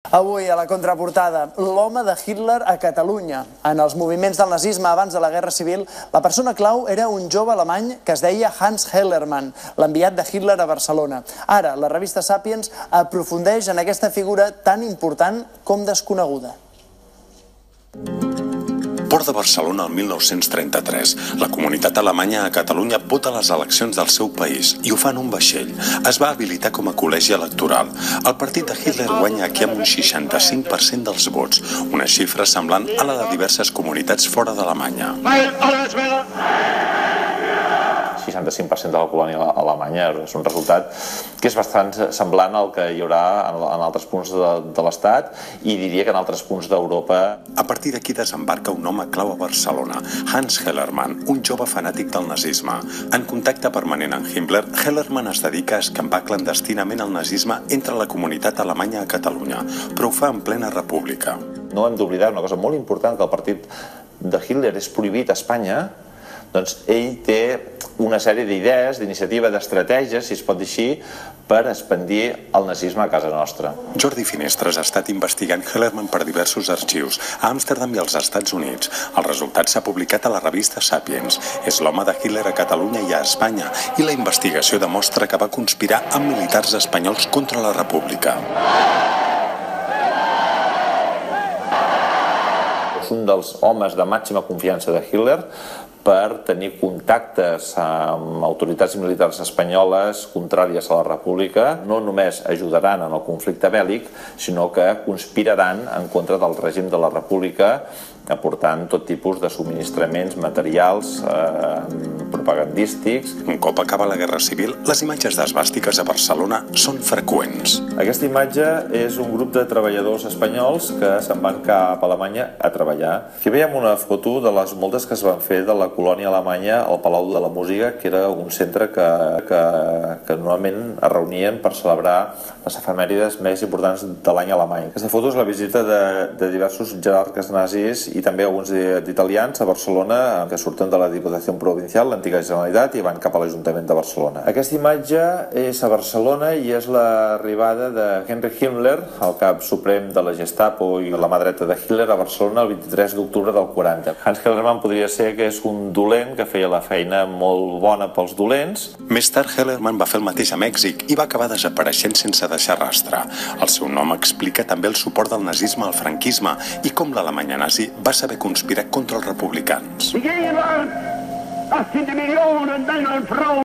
Avui, a la contraportada, l'home de Hitler a Catalunya. En els moviments del nazisme abans de la Guerra Civil, la persona clau era un jove alemany que es deia Hans Hellermann, l'enviat de Hitler a Barcelona. Ara, la revista Sapiens aprofundeix en aquesta figura tan important com desconeguda. Port de Barcelona el 1933. La comunitat alemanya a Catalunya vota a les eleccions del seu país i ho fa en un vaixell. Es va habilitar com a col·legi electoral. El partit de Hitler guanya aquí amb un 65% dels vots, una xifra semblant a la de diverses comunitats fora d'Alemanya. 65% de la colònia alemanya és un resultat que és bastant semblant al que hi haurà en altres punts de l'Estat i diria que en altres punts d'Europa. A partir d'aquí desembarca un home clau a Barcelona, Hans Hellermann, un jove fanàtic del nazisme. En contacte permanent amb Himmler, Hellermann es dedica a escampar clandestinament el nazisme entre la comunitat alemanya a Catalunya, però ho fa en plena república. No hem d'oblidar una cosa molt important, que el partit de Hitler és prohibit a Espanya. Doncs ell té una sèrie d'idees, d'iniciativa, d'estratègies, si es pot dir així, per expandir el nazisme a casa nostra. Jordi Finestres ha estat investigant Hellermann per diversos arxius, a Amsterdam i als Estats Units. El resultat s'ha publicat a la revista Sapiens. És l'home de Hitler a Catalunya i a Espanya, i la investigació demostra que va conspirar amb militars espanyols contra la República. És un dels homes de màxima confiança de Hitler per tenir contactes amb autoritats militars espanyoles contràries a la República. No només ajudaran en el conflicte bèl·lic, sinó que conspiraran en contra del règim de la República, aportant tot tipus de subministraments materials propagandístics. Un cop acaba la Guerra Civil, les imatges d'esvàstiques a Barcelona són freqüents. Aquesta imatge és un grup de treballadors espanyols que se'n van cap a Alemanya a treballar. Aquí veiem una foto de les moltes que es van fer de la colònia alemanya al Palau de la Música, que era un centre que normalment es reunien per celebrar les efemèrides més importants de l'any alemany. Aquesta foto és la visita de diversos jerarques nazis i també alguns d'italians a Barcelona que surten de la Diputació Provincial, l'antiga Generalitat, i van cap a l'Ajuntament de Barcelona. Aquesta imatge és a Barcelona i és l'arribada de Heinrich Himmler, el cap suprem de la Gestapo i la mà dreta de Hitler, a Barcelona el 23 d'octubre del 40. Hans Hellermann podria ser que és un dolent que feia la feina molt bona pels dolents. Més tard, Hellermann va fer el mateix a Mèxic i va acabar desapareixent sense deixar rastre. El seu nom explica també el suport del nazisme al franquisme i com l'Alemanya nazi va saber conspirar contra els republicans.